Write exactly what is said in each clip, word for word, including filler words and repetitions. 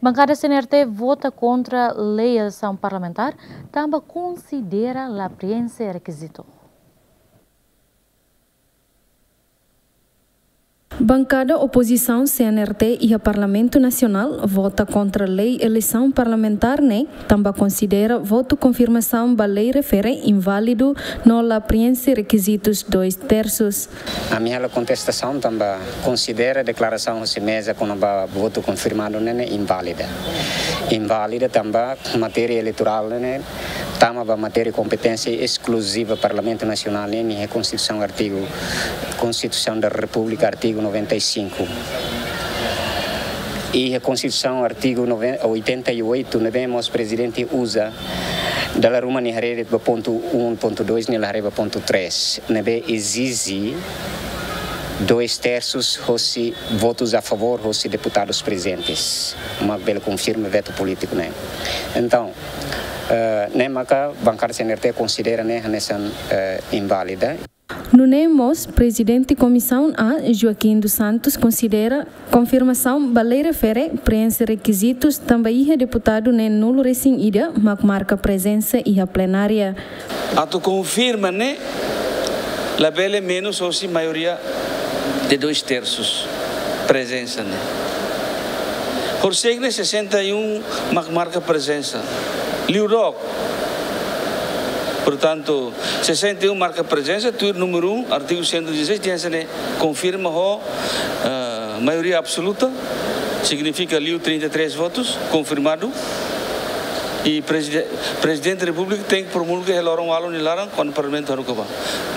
Bankada C N R T vota kontra lei eleisaun parlamentár, tanba konsidera la prienxe rekizitu. Bankada opozisaun C N R T iha Parlamentu Nasionál vota kontra lei eleisaun parlamentár ne'e, tanba konsidera votu konfirmasaun ba lei refere inválidu no la prienxe rekizitus dois terços. Ami halo kontestasaun tanba konsidera deklarasaun husi meza kona-ba votu konfirmadu ne'e inválida. Inválida tanba matéria eleitorál ne'e tama ba matéria kompeténsia eskluziva Parlamentu Nasionál nian iha Konstituisaun artigu, Konstituisaun da Repúblika artigu noventa e cinco. Iha Konstituisaun artigu nove-, oitenta e oito, ne'ebé mós prezidente uza, dala ruma nia haree ba pontu um, pontu dois, nia la haree ba pontu três, ne'ebé ezije dois terços hosi votus a favór hosi deputadus prezentes, mak bele konfirma vetu polítiku ne'e. Entaun, eh, ne'e maka bankada C N R T konsidera ne'e hanesan, eh, inválida. Nune'e mós, prezidente Komisaun A, Joaquim dos Santos, konsidera konfirmasaun ba lei refere prienxe rekizitus tanba iha deputadu ne'e nulu resin ida mak marka prezensa iha plenária. Atu konfirma ne'e labele menus hosi maioria de dois terços prezensa ne'e. Horisehik ne'e sessenta e um mak marka prezensa. Liu dook. Portantu, sessenta e um marka prezensa, tuir númeru um, artigu cento e dezasseis, tenke ser konfirma ho, eh, maioria absoluta, signifika liu trinta e três votus, konfirmadu. I prezide-, Prezidente da Repúblika tenke promulga iha loron ualu nia laran, kuandu Parlamentu haruka ba.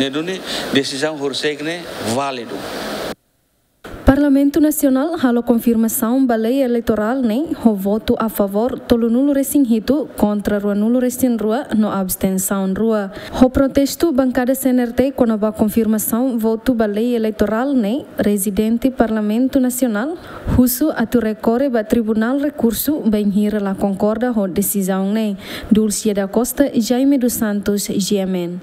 Ne'e duni desizaun horisehik ne'e válidu. Parlamentu Nasionál halo konfirmasaun ba lei eleitorál ne'e ho votu a favór tolunulu resin hitu, kontra ruanulu resin rua no abstensaun rua. Ho protestu bankada C N R T kona-ba konfirmasaun votu ba lei eleitorál ne'e, prezidente Parlamentu Nasionál husu atu rekorre ba Tribunál Rekursu bainhira la konkorda ho desizaun ne'e. Dulcia da Costa, Jaime dos Santos, G M N.